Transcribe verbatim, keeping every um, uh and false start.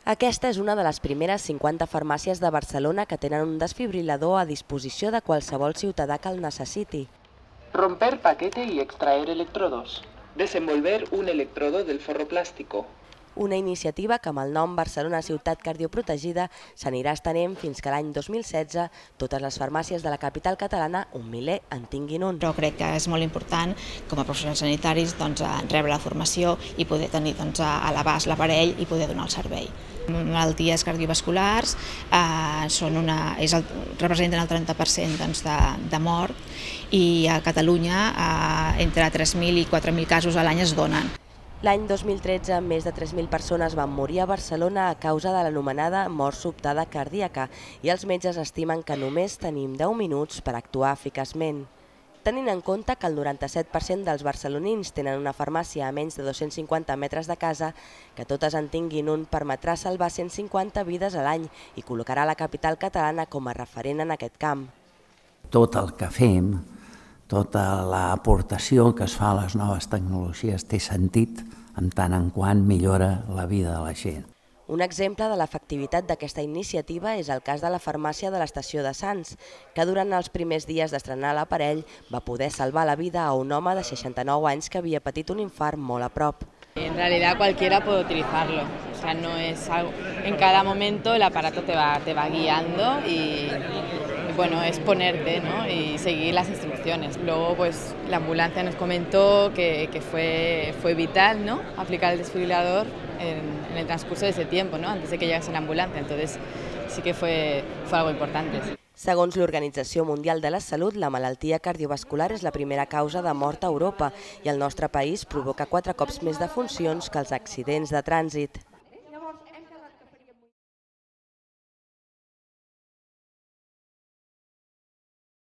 Aquesta és una de les primeres cinquanta farmàcies de Barcelona que tenen un desfibrilador a disposició de qualsevol ciutadà que el necessiti. Romper paquete y extraer electrodos. Desenvolver un electrodo del forro plástico. Una iniciativa que amb el nom Barcelona Ciutat Cardioprotegida s'anirà estenent fins que l'any dos mil setze totes les farmàcies de la capital catalana, un miler, en tinguin un. Però crec que és molt important, com a professionals sanitaris, doncs, rebre la formació i poder tenir doncs, a l'abast l'aparell i poder donar el servei. Malalties cardiovasculars eh, són una, és el, representen el trenta per cent doncs, de, de mort i a Catalunya eh, entre tres mil i quatre mil casos a l'any es donen. L'any dos mil tretze, més de tres mil persones van morir a Barcelona a causa de l'anomenada mort sobtada cardíaca i els metges estimen que només tenim deu minuts per actuar eficaçment. Tenint en compte que el noranta-set per cent dels barcelonins tenen una farmàcia a menys de dos-cents cinquanta metres de casa, que totes en tinguin un permetrà salvar cent cinquanta vides a l'any i col·locarà la capital catalana com a referent en aquest camp. Tot el que fem, tota l'aportació que es fa a les noves tecnologies té sentit en tant en quant millora la vida de la gent. Un exemple de l'efectivitat d'aquesta iniciativa és el cas de la farmàcia de l'estació de Sants, que durant els primers dies d'estrenar l'aparell va poder salvar la vida a un home de seixanta-nou anys que havia patit un infart molt a prop. En realidad cualquiera puede utilizarlo, o sea, no es algo, en cada momento el aparato te va, te va guiando y, y bueno, es ponerte, ¿no? Y seguir las instrucciones. Luego pues la ambulancia nos comentó que, que fue, fue vital, ¿no? Aplicar el desfibrilador en, en el transcurso de ese tiempo, ¿no? Antes de que llegase la ambulancia, entonces sí que fue, fue algo importante. Segons l'Organització Mundial de la Salut, la malaltia cardiovascular és la primera causa de mort a Europa i el nostre país provoca quatre cops més defuncions que els accidents de trànsit.